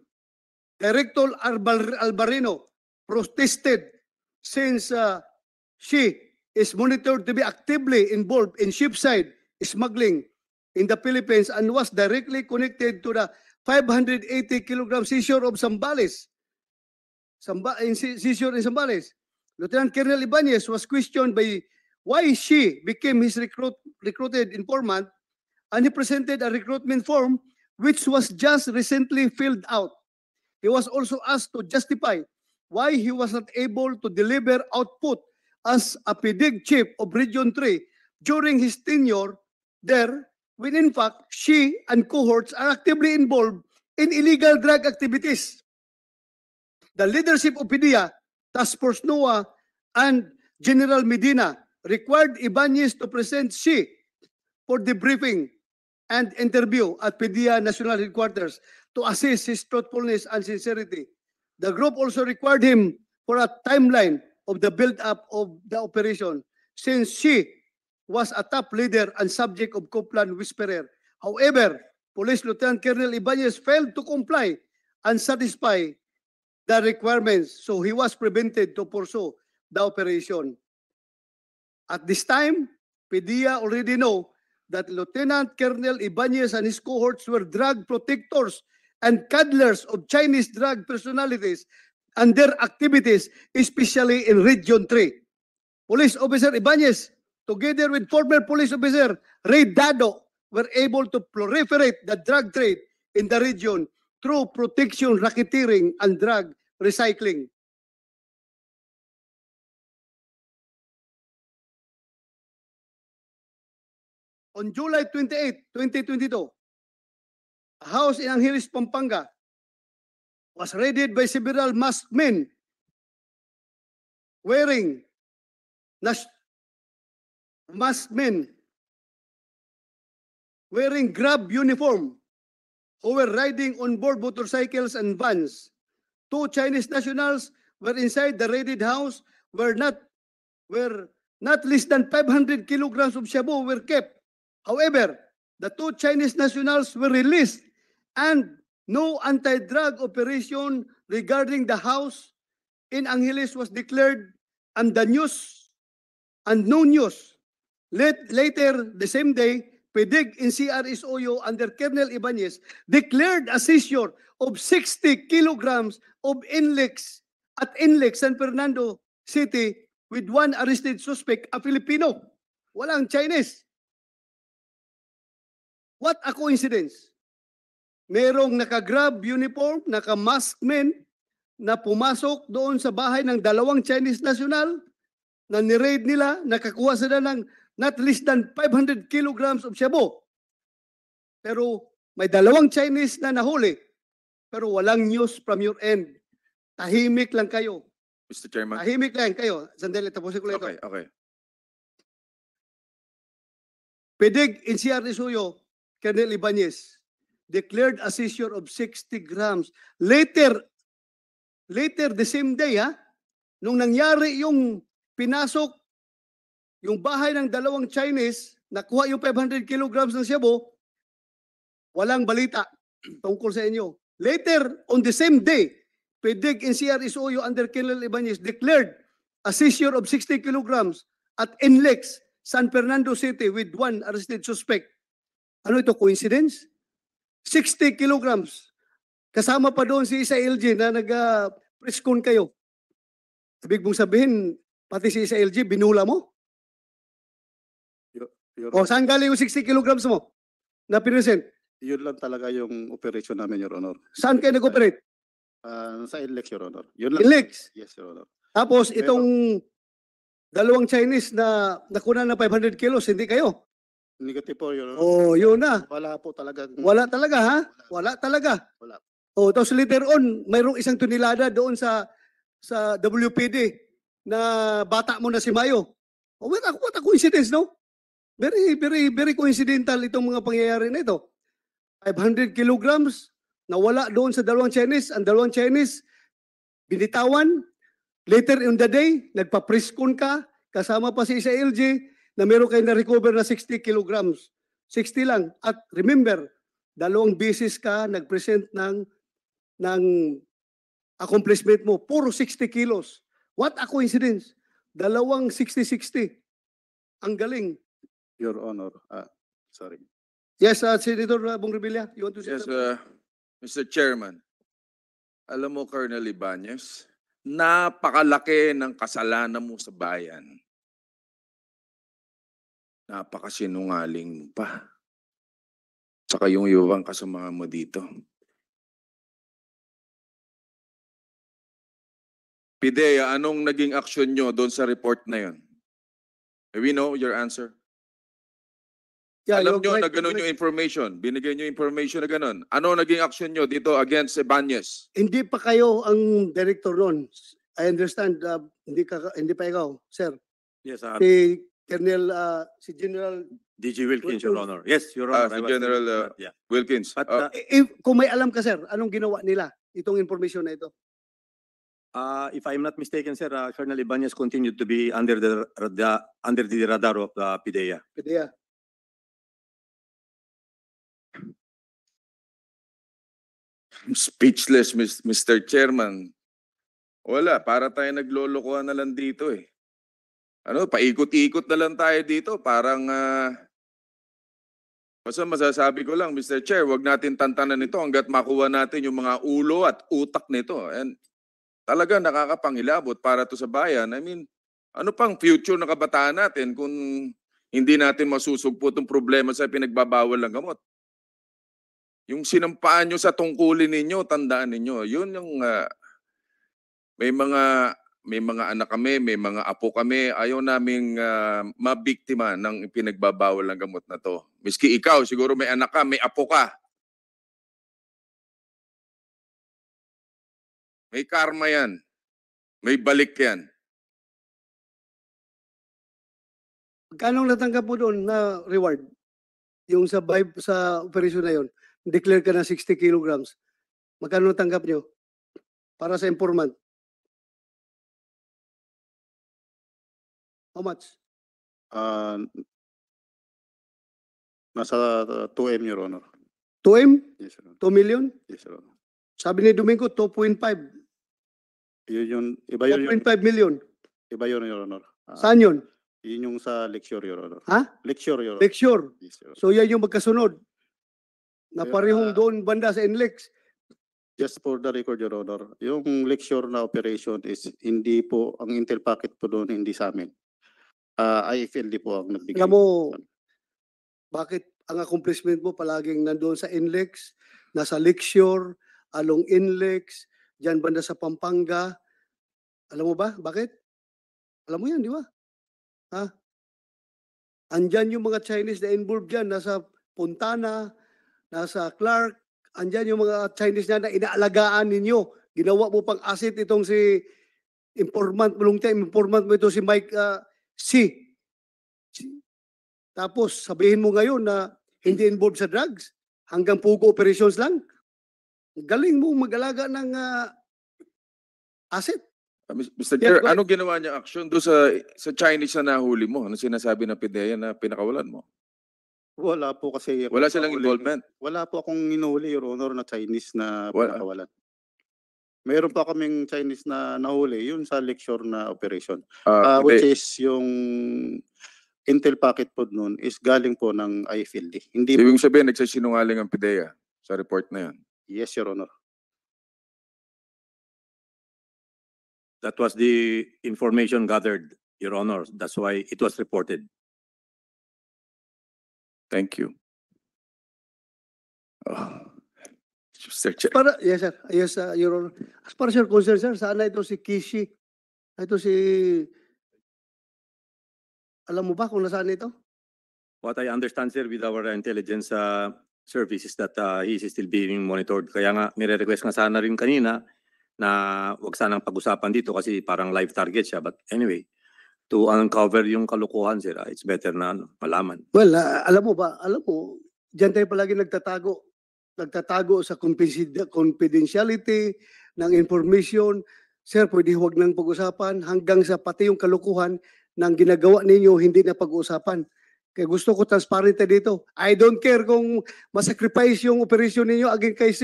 Director Albar- Albarino protested since uh, she is monitored to be actively involved in shipside smuggling in the Philippines and was directly connected to the five hundred eighty kilogram seizure of Zambales. Samba, in si- seizure in Zambales. Lieutenant Colonel Ibanez was questioned by why she became his recruit, recruited informant, and he presented a recruitment form which was just recently filled out. He was also asked to justify why he was not able to deliver output as a PDEG chief of Region three during his tenure there, when in fact she and cohorts are actively involved in illegal drug activities. The leadership of PDEA, Task Force Noah, and General Medina required Ibanez to present Shi for debriefing and interview at PDEA National Headquarters to assess his truthfulness and sincerity. The group also required him for a timeline of the build-up of the operation, since Shi was a top leader and subject of Copeland Whisperer. However, Police Lieutenant Colonel Ibanez failed to comply and satisfy the requirements, so he was prevented to pursue the operation. At this time, PDEA already know that Lieutenant Colonel Ibanez and his cohorts were drug protectors and cuddlers of Chinese drug personalities and their activities, especially in Region three. Police Officer Ibanez, together with former police officer Ray Dado, were able to proliferate the drug trade in the region through protection, racketeering, and drug recycling. On July twenty-eight, twenty twenty-two, a house in Angeles, Pampanga was raided by several masked men wearing nas- masked men wearing grab uniform who were riding on board motorcycles and vans. Two Chinese nationals were inside the raided house where not where not less than five hundred kilograms of shabu were kept. However, the two Chinese nationals were released and no anti-drug operation regarding the house in Angeles was declared, and the news and no news Let, later the same day, PDEG and CRSOU under Colonel Ibanez declared a seizure of sixty kilograms of NLEX at NLEX San Fernando City with one arrested suspect, a Filipino. Walang Chinese. What a coincidence. Merong naka-grab uniform, naka-mask men na pumasok doon sa bahay ng dalawang Chinese national na ni-raid nila, nakakuha sila ng not less than five hundred kilograms of shabu. Pero may dalawang Chinese na nahuli, pero walang news from your end. Tahimik lang kayo. Mister Chairman. Tahimik lang kayo. Sandali, tapusin ko lang ito. Okay, okay. PDEG and CRSOU, Colonel Ibanez, declared a seizure of sixty grams. Later, later the same day, ha, nung nangyari yung pinasok, yung bahay ng dalawang Chinese, nakuha yung five hundred kilograms ng shabu, walang balita tungkol sa inyo. Later, on the same day, PDEG and CRSOU under Colonel Ibanez declared a seizure of sixty kilograms at NLEX, San Fernando City with one arrested suspect. Ano ito, coincidence? Sixty kilograms. Kasama pa doon si Isa L G na nag-press con kayo. Ibig mong sabihin, pati si Isa L G, binula mo? Your O, saan galing yung sixty kilograms mo na present? Yun lang talaga yung operation namin, Your Honor. Saan kayo nag-operate? Ah, sa NLEX, Your Honor. Yun lang. NLEX. Yes, Your Honor. Tapos Pero- itong dalawang Chinese na nakuna ng five hundred kilos, hindi kayo? Negative po, Your Honor. Oh, yun na. Wala po talaga. Wala talaga, ha? Wala talaga. Wala. Oh, tapos later on, mayroong isang tonelada doon sa sa W P D na bata mo na si Mayo. Oh, what a, what a coincidence, no? Very, very, very coincidental itong mga pangyayari na ito. Five hundred kilograms na wala doon sa dalawang Chinese. Ang dalawang Chinese, binitawan. Later in the day, nagpa-press con ka, kasama pa si Isa L G, na meron kayo na-recover na sixty kilograms. Sixty lang. At remember, dalawang beses ka nag-present ng, ng accomplishment mo. Puro sixty kilos. What a coincidence. Dalawang sixty sixty. Ang galing. Your Honor. Ah, sorry. Yes, uh, Senator uh, Bong Revilla, you want to say Yes, something? uh, Mister Chairman. Alam mo, Colonel Ibanez, napakalaki ng kasalanan mo sa bayan. Napakasinungaling mo pa. Saka yung iba pang kasama mo dito. Pidea, anong naging action nyo doon sa report na yun? We know your answer. Yeah, Alam you're nyo right, na ganun you're yung right. Information. Binigay nyo information na ganun. Ano naging action nyo dito against Ibanez? Hindi pa kayo ang director noon. I understand, uh, hindi ka hindi pa ikaw, sir. Yes, uh, Si Colonel uh, si General D G Wilkins, Your Wilkins. Honor. Yes, Your Ah, Honor. I si was General, there, uh, but yeah. Wilkins. But, Ah, uh, if kung may alam ka, sir, anong ginawa nila itong information na ito? Uh, if I'm not mistaken, sir, uh, Colonel Ibanez continued to be under the, the under the radar of the PDEA. Pwede, ah. Speechless, Mis- Mister Chairman. Wala, para tayo naglolokohan na lang dito eh. Ano, paikot-ikot na lang tayo dito. Parang, ah, basta masasabi ko lang, Mister Chair, wag natin tantanan ito hanggat makuha natin yung mga ulo at utak nito. And talaga nakakapangilabot para to sa bayan. I mean, ano pang future ng kabataan natin kung hindi natin masusugpo itong problema sa pinagbabawal ng gamot? Yung sinampaan nyo sa tungkulin ninyo, tandaan ninyo, yun yung ah, may mga may mga anak kami, may mga apo kami, ayaw naming ah, mabiktima ng pinagbabawal ng gamot na to. Miski ikaw, siguro may anak ka, may apo ka. May karma yan. May balik yan. Magkano natanggap mo doon na reward? Yung sa vibe, sa operation na yon, declare ka na sixty kilograms. Magkano natanggap nyo? Para sa informant. How much? Ah, nasa uh, two M, Your Honor. two M? Yes, Your Honor. two million? Yes, Your Honor. Sabi ni Domingo, two point five. Yun yun. Iba yun, yun. two point five million. Iba yun, Your Honor. Ah, Saan yun? Yun yung sa Lecture, Your Honor. Ha? Lecture, Your Honor. Lecture. Yes, Your Honor. So yan yung magkasunod. Na Kaya- parehong doon banda sa NLEX. Just for the record, Your Honor, yung Lecture na operation is hindi po, ang intel packet po doon hindi sa amin. Ah, I F L D po ang nagbigay. Alam mo, bakit ang accomplishment mo palaging nandoon sa NLEX, nasa Lecture, along NLEX, dyan banda sa Pampanga? Alam mo ba? Bakit? Alam mo yan, di ba? Ha? Andyan yung mga Chinese na involved dyan, nasa Fontana, nasa Clark, andyan yung mga Chinese na, na inaalagaan ninyo. Ginawa mo pang asset itong si informant, Lungte, informant mo ito si Mike ah, C. Si- Tapos sabihin mo ngayon na hindi involved sa drugs, hanggang POGO operations lang. Ang galing mo mag-alaga ng ah, asset. Uh, Mis- Mister Yes, Chair, go ahead. Anong ginawa niya action doon sa sa Chinese na nahuli mo? Anong sinasabi ng PDEA na pinakawalan mo? Wala po kasi ako Wala silang nahuli. Involvement? Wala po akong inuhuli, Your Honor, na Chinese na Wala. pinakawalan. Meron pa kaming Chinese na nahuli, yun sa Lecture na operation. Ah, Ah, which hindi. is yung intel packet po noon is galing po ng I F L D. Hindi po, Ibig sabihin, nagsisinungaling ang PDEA sa report na yun. Yes, Your Honor. That was the information gathered, Your Honor. That's why it was reported. Thank you. Oh. Mister Chair. Para, yes, sir. Yes, uh, Your Honor. As far as your concern, sir, saan na ito si Kishi? Ito si... Alam mo ba kung nasaan ito? What I understand, sir, with our intelligence uh, service is that uh, he is still being monitored. Kaya nga, nire-request nga sana rin kanina na wag sanang pag-usapan dito kasi parang live target siya. But anyway, to uncover yung kalokohan, sir, uh, it's better na ano, malaman. Well, ah, alam mo ba, alam mo, diyan tayo palagi nagtatago. Nagtatago sa confidenti- confidentiality ng information. Sir, pwede huwag nang pag-usapan hanggang sa pati yung kalokohan ng ginagawa ninyo hindi na pag-uusapan. Kaya gusto ko transparent tayo dito. I don't care kung masacrifice yung operation ninyo against kay C.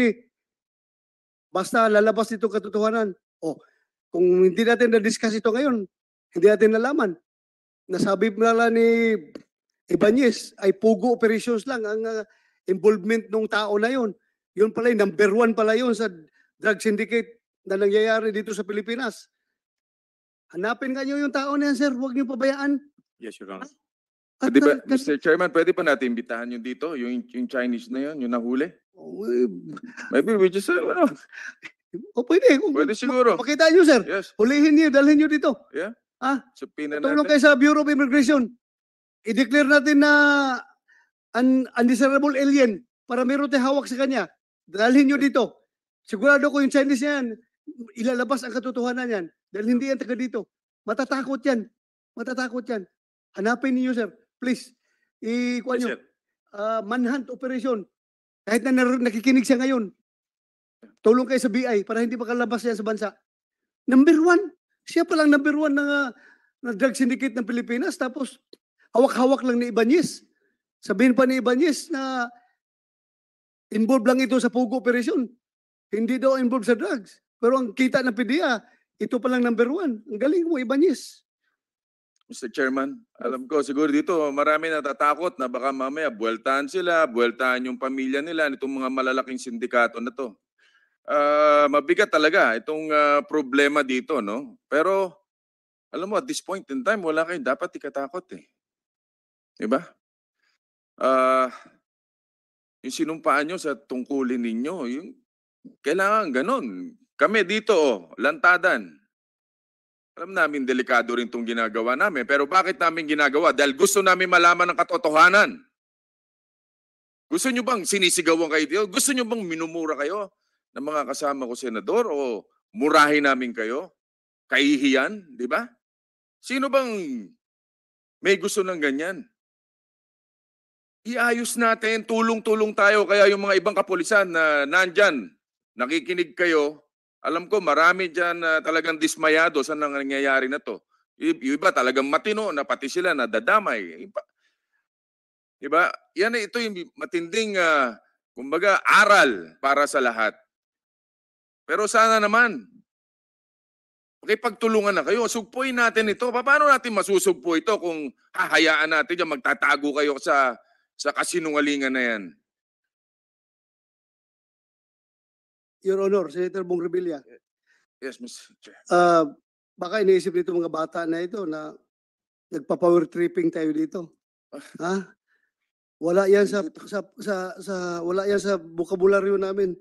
Basta lalabas dito katotohanan. O, kung hindi natin na-discuss ito ngayon, hindi natin nalaman. Nasabi pala ni Ibanez ay POGO operations lang ang ah, involvement ng tao na yon. Yun pala yung number one pala yun sa drug syndicate na nangyayari dito sa Pilipinas. Hanapin nga nyo yung tao na yan, sir. Huwag nyo pabayaan. Yes, Your Honor. At, Pwede ba, ah, kasi- Mister Chairman, pwede pa natin imbitahan yung dito, yung, yung Chinese na yun, yung nahuli? Oh, eh, Maybe we just, uh, ano, oh, pwede. Kung pwede siguro. Makita nyo, sir. Yes, Hulihin nyo, dalhin nyo dito. subpoena Tulong natin. kayo sa Bureau of Immigration. I-declare natin na un undesirable alien para meron tayong hawak sa kanya. Dalhin nyo dito. Sigurado ko yung Chinese yan, ilalabas ang katotohanan yan. Dahil hindi yan taga dito. Matatakot yan. Matatakot yan. Hanapin niyo, sir. Please. I-kuha Yes, nyo. sir. Ah, manhunt operation. Kahit na nar- nakikinig siya ngayon. Tulong kayo sa B I para hindi makalabas yan sa bansa. Number one. Siya palang number one na, na drug syndicate ng Pilipinas. Tapos, hawak-hawak lang ni Ibanez. Sabihin pa ni Ibanez na involved lang ito sa POGO operation. Hindi daw involved sa drugs. Pero ang kita ng PDEA, ito palang number one. Ang galing mo, Ibanez. Mister Chairman, alam ko siguro dito marami natatakot na baka mamaya buweltahan sila, buweltahan yung pamilya nila nitong mga malalaking sindikato na to. Ah, mabigat talaga itong ah, problema dito, no? Pero alam mo, at this point in time, wala kayong dapat ikatakot eh. Di ba? Ah, yung sinumpaan nyo sa tungkulin ninyo, yung kailangan ganun. Kami dito, oh, lantadan. Alam namin delikado rin itong ginagawa namin, pero bakit namin ginagawa? Dahil gusto namin malaman ang katotohanan. Gusto nyo bang sinisigawan kayo dito? Gusto nyo bang minumura kayo ng mga kasama ko, Senador? O murahin namin kayo? Kahihiyan, di ba? Sino bang may gusto ng ganyan? Iayos natin, tulong-tulong tayo. Kaya yung mga ibang kapulisan na nandyan, nakikinig kayo, alam ko marami dyan na talagang dismayado sa nangyayari na to. Y- Yung iba talagang matino na pati sila nadadamay. Iba, diba? Yan, ito yung matinding, ah, kumbaga, aral para sa lahat. Pero sana naman, Makipagtulungan na kayo. Sugpuin natin ito. Pa- Paano natin masusugpo ito kung hahayaan natin yan, magtatago kayo sa, sa kasinungalingan na yan? Your Honor, Senator Bong Revilla, Yes, Mister Chair. ah, baka iniisip nito mga bata na ito na nagpa-power tripping tayo dito. Ha? Wala yan sa sa sa, sa wala yan sa bokabularyo namin.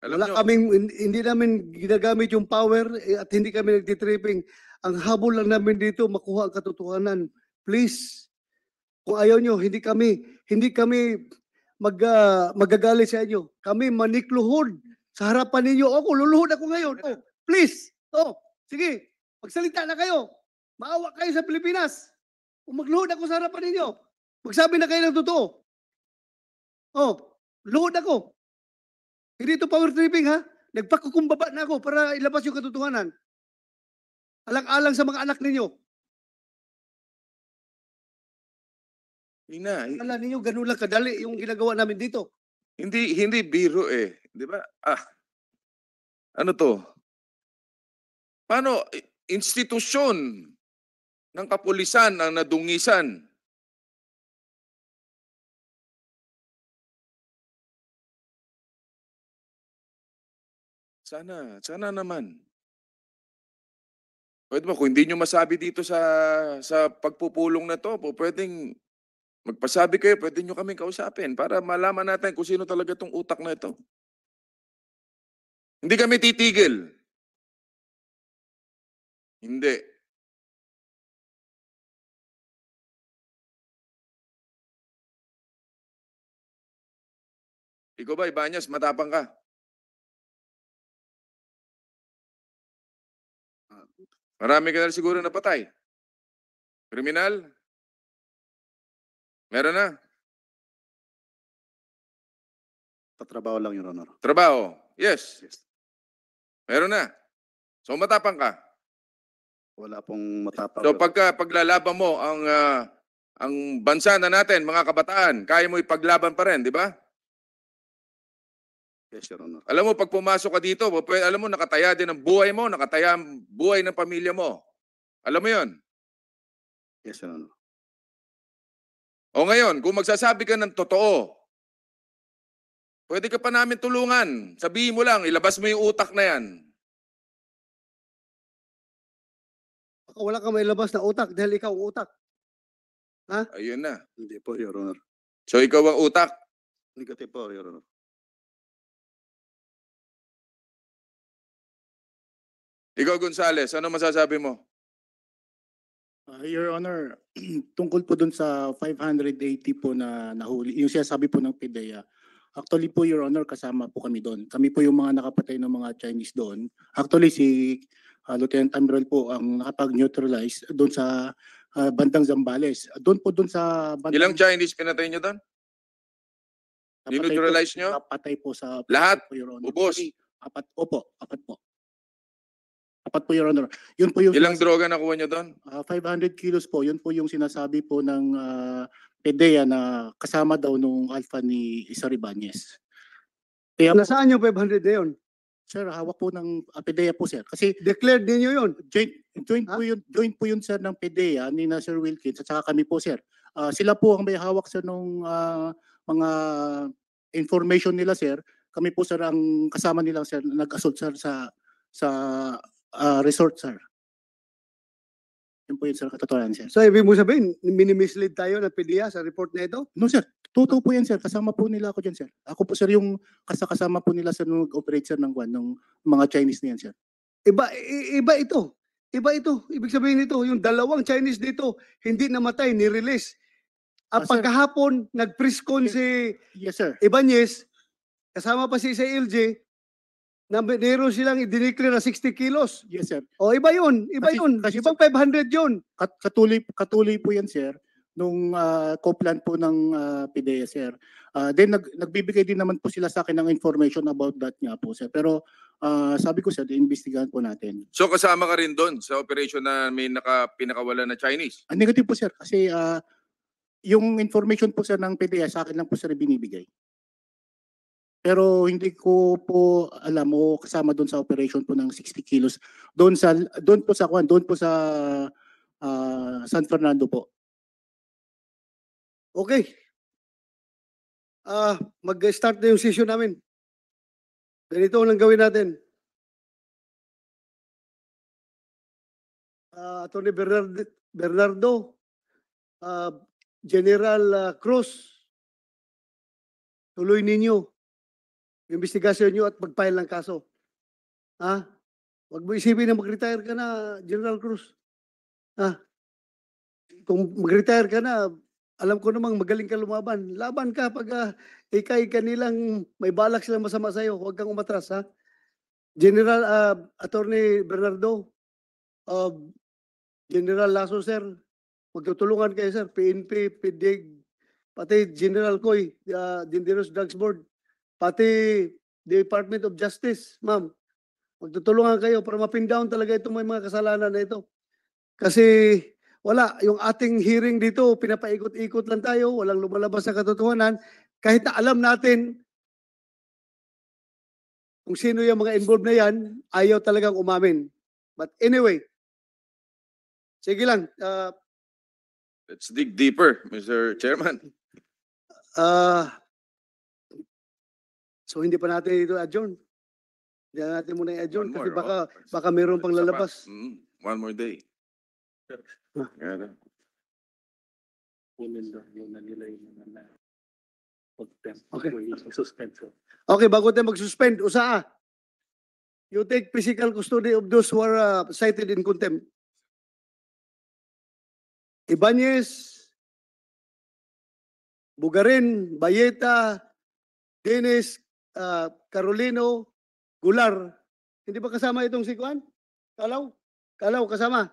Alam Wala nyo, kaming hin- hindi namin ginagamit yung power eh, at hindi kami nagtitripping. Ang habol lang namin dito makuha ang katotohanan. Please. Kung ayaw nyo, hindi kami hindi kami mag ah, magagalit sa inyo. Kami manikluhod sa harapan ninyo. Ako luluhod ako ngayon. Oh, please. Oh, sige. Magsalita na kayo. Maawa kayo sa Pilipinas. Kung magluhod ako sa harapan ninyo, magsabi na kayo ng totoo. Oh, luhod ako. Hindi ito power tripping ha. Nagpakukumbaba na ako para ilabas yung katotohanan. Alang-alang sa mga anak ninyo. Ina, Akala ninyo ganun lang kadali yung ginagawa namin dito. hindi hindi biro eh, 'di ba? Ah. Ano 'to? Paano i- institusyon ng kapulisan ang nadungisan? Sana, sana naman. Pwede ba kung hindi nyo masabi dito sa sa pagpupulong na 'to, po pwedeng magpasabi kayo, pwede nyo kaming kausapin para malaman natin kung sino talaga 'tong utak na ito. Hindi kami titigil. Hindi. Ikaw ba, Ibanez, matapang ka? Marami ka na siguro napatay. Kriminal? Meron na? Tatrabaho lang, Your Honor. Trabaho? Yes. Yes. Meron na? So matapang ka? Wala pong matapang. So Your pagka paglalaban mo ang ah, ang bansa na natin, mga kabataan, kaya mo ipaglaban pa rin, di ba? Yes, Your Honor. Alam mo, pag pumasok ka dito, pwede, alam mo, nakataya din ang buhay mo, nakataya ang buhay ng pamilya mo. Alam mo yon. Yes, Your Honor. O ngayon, kung magsasabi ka ng totoo, pwede ka pa namin tulungan. Sabihin mo lang, ilabas mo yung utak na yan. Baka wala kang mailabas na utak dahil ikaw ang utak. Ayun na. Hindi po, Your Honor. So ikaw ang utak. Negative po, Your Honor. Ikaw, Gonzales, ano masasabi mo? Ah, Your Honor, tungkol po dun sa five hundred eighty po na nahuli, yung sinasabi po ng PDEA, actually po, Your Honor, kasama po kami doon. Kami po yung mga nakapatay ng mga Chinese doon. Actually, si ah, Lieutenant Admiral po ang nakapag-neutralize doon sa ah, bandang Zambales. Doon po doon sa bandang Ilang Chinese pinatay nyo doon? napatay po, Dineutralize nyo? Napatay po sa Lahat? po, Your Honor. Ubos? Actually, apat, opo, apat po. Apat po, Your Honor. Yun po yung Ilang sinas- droga nakuha nyo doon? Ah, five hundred kilos po, yun po yung sinasabi po ng ah, PDEA na kasama daw nung alpha ni Cesar Ibanez. Kaya po, Nasaan yung five hundred na yun? Sir, hawak po ng ah, PDEA po, sir. Kasi Declared ninyo yun. joint, joint Ha? po yun, joint po yun, sir, ng PDEA ni na Sir Wilkins at saka kami po, sir. Ah, sila po ang may hawak, sir, nung ah, mga information nila, sir. Kami po, sir, ang kasama nila, sir, na nag-assault, sir, sa sa ah, resort, sir. Yun po yun, sir, katotohanan, sir. So, ibig mo sabihin, minimislead tayo ng PDEA sa report na ito? No, sir. Totoo po yan, sir. Kasama po nila ako dyan, sir. Ako po, sir, yung kasakasama po nila, sir, nung nag-operate, sir, ng, kwan, ng mga Chinese na yan, sir. Iba, i- iba ito. Iba ito. Ibig sabihin nito, yung dalawang Chinese dito, hindi namatay, ni-release. At Ah, sir. Pagkahapon, nag-press con si Yes, sir. Ibanez, kasama pa si Cesar L J, na meron silang i-declare na sixty kilos. Yes, sir. O, iba yun. Iba Kasi- yun. kasi, Ibang five hundred yun. Kat- katuloy, katuloy po yan, sir, nung ah, COPLAN po ng ah, PDEA, sir. Ah, then, nag, nagbibigay din naman po sila sa akin ng information about that nga po, sir. Pero ah, sabi ko, sir, iimbestigahan po natin. So kasama ka rin doon sa operation na may naka, pinakawala na Chinese? Ah, negative po, sir. Kasi ah, yung information po, sir, ng PDEA, sa akin lang po, sir, binibigay. Pero hindi ko po alam o kasama doon sa operation po ng sixty kilos. Doon sa doon po sa kwan, doon po sa ah, San Fernando po. Okay. Ah, mag-start na yung session namin. Ganito ang gawin natin. Ah, Attorney Bernard, Bernardo, ah, General ah, Cruz, tuloy ninyo yung investigasyon nyo at mag-file ng kaso. Ha? Huwag mo isipin na mag-retire ka na, General Cruz. Ha? Kung mag-retire ka na, alam ko namang magaling ka lumaban. Laban ka pag ah, ikay kanilang may balak silang masama sa'yo. Huwag kang umatras, ha? General, ah, Attorney Bernardo, ah, General Lasso, sir, magtutulungan kayo, sir. P N P, PDEG, pati General Coy, ah, Dangerous Drugs Board, pati Department of Justice, ma'am. Magtutulungan kayo para ma-pin down talaga itong may mga kasalanan na ito. Kasi wala, yung ating hearing dito, pinapaikot-ikot lang tayo, walang lumalabas sa katotohanan. Kahit na alam natin kung sino yung mga involved na yan, ayaw talagang umamin. But anyway, sige lang. ah, Let's dig deeper, Mister Chairman. ah, so hindi pa natin ito adjourn. Hindi natin muna i-adjourn One kasi more, baka oh. baka mayroon pang Isa pa. lalabas. Mm, one more day. Ah. Kaya lang. Kunin daw muna nila yung mga na contempt Okay. before you suspend, sir. Okay, bago tayo mag-suspend, usaa. You take physical custody of those who are uh, cited in contempt. Ibanez, Bugarin, Bayeta, Dennis, uh, Carolino, Gular. Hindi ba kasama itong si Kuan? Kalaw? Kalaw kasama?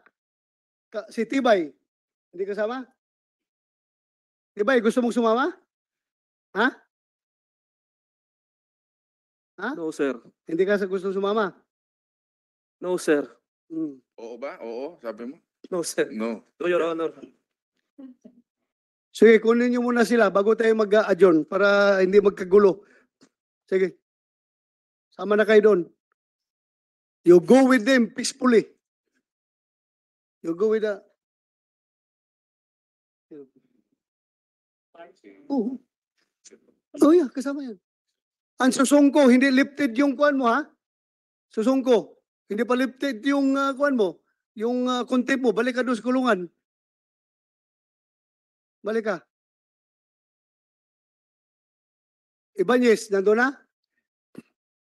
Ka- si Tibay? Hindi kasama? Tibay, gusto mong sumama? Ha? Ha? No, sir. Hindi ka sa gusto sumama? No, sir. Hmm. Oo ba? Oo, sabi mo? No, sir. No. No, Your Honor. Sige, kunin niyo muna sila bago tayo mag-adjourn para hindi magkagulo. Sige. Sama na kayo doon. You go with them peacefully. You go with the... Oh. Oh yeah, kasama yan. Ang susungko, hindi lifted yung kuan mo ha? Susungko, hindi pa lifted yung ah, kuan mo, yung ah, contempt mo, balik ka doon sa kulungan. Balik ka. Ibanez, nandun na?